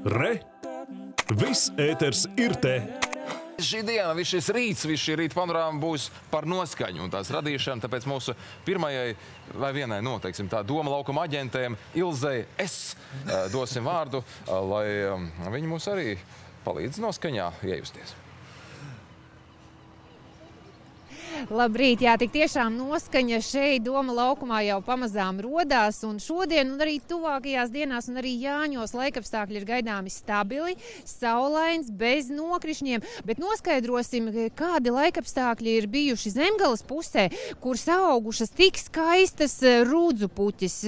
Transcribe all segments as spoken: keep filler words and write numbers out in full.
Re! Viss ēters ir te! Šī diena, viss šis rīts, viss šī rīta panorāma būs par noskaņu un tās radīšanu, tāpēc mūsu pirmajai vai vienai, no, teiksim, tā doma laukuma aģentēm Ilzei es dosim vārdu, lai viņi mūs arī palīdz noskaņā iejusties. Labrīt, jā, tik tiešām noskaņa šeit Doma laukumā jau pamazām rodās, un šodien un arī tuvākajās dienās un arī Jāņos laikapstākļi ir gaidāmi stabili, saulains, bez nokrišņiem, bet noskaidrosim, kādi laikapstākļi ir bijuši Zemgales pusē, kur augušas tik skaistas rudzu puķis,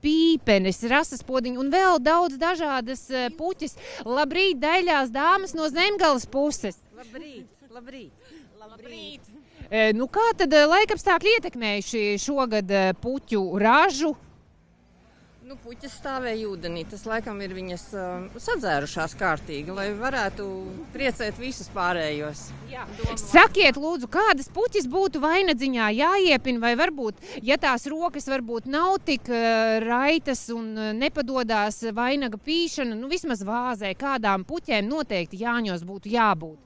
pīpenes, rasaspodiņi un vēl daudz dažādas puķis. Labrīt, daļās dāmas no Zemgales puses! Labrīt, labrīt, labrīt! Nu, kā tad laikapstākļi ietekmējuši šogad puķu ražu? Nu, puķis stāvēja ūdenī. Tas laikam ir viņas uh, sadzērušās kārtīgi, lai varētu priecēt visus pārējos. Jā. Sakiet, lūdzu, kādas puķis būtu vainadziņā jāiepina, vai varbūt, ja tās rokas varbūt nav tik uh, raitas un uh, nepadodās vainaga pīšana, nu vismaz vāzē, kādām puķēm noteikti Jāņos būtu jābūt?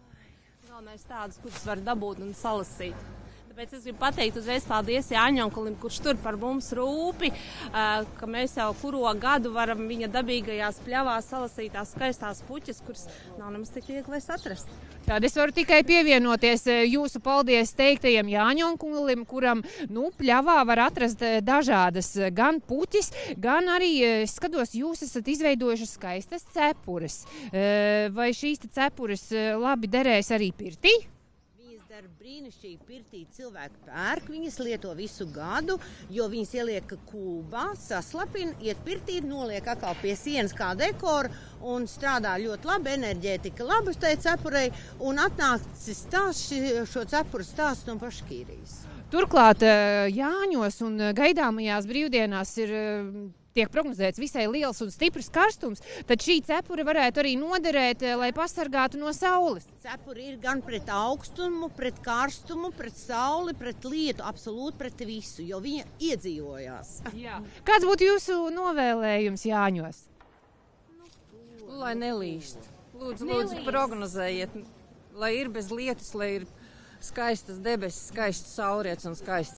Galvenais tādas, kuras var dabūt un salasīt. Tāpēc es gribu pateikt uzreiz paldies Jāņonkulim, kurš tur par mums rūpi, ka mēs jau kuro gadu varam viņa dabīgajās pļavās salasīt tās skaistās puķes, kuras nav nemaz tik vieglais atrast. Tad es varu tikai pievienoties jūsu paldies teiktajam Jāņonkulim, kuram, nu, pļavā var atrast dažādas gan puķis, gan arī, skatos, jūs esat izveidojuši skaistas cepures. Vai šīs cepures labi derēs arī pirtī? Ar brīnišķīgi pirtī cilvēku pērk, viņas lieto visu gadu, jo viņas ieliek kūbā, saslapina, iet pirtī, noliek atkal pie sienas kā dekoru un strādā ļoti labi, enerģētika labi tai cepurei un atnācis stāsts, šo cepuru stāsts no Paškīrijas. Turklāt Jāņos un gaidāmajās brīvdienās ir tiek prognozēts visai liels un stiprs karstums, tad šī cepura varētu arī noderēt, lai pasargātu no saules. Cepura ir gan pret augstumu, pret karstumu, pret sauli, pret lietu, absolūti pret visu, jo viņa iedzīvojās. Jā. Kāds būtu jūsu novēlējums Jāņos? Lai nelīst. Lūdzu, nelīst. Lūdzu, prognozējiet, lai ir bez lietus, lai ir skaistas debesis, skaists saulriets un skaists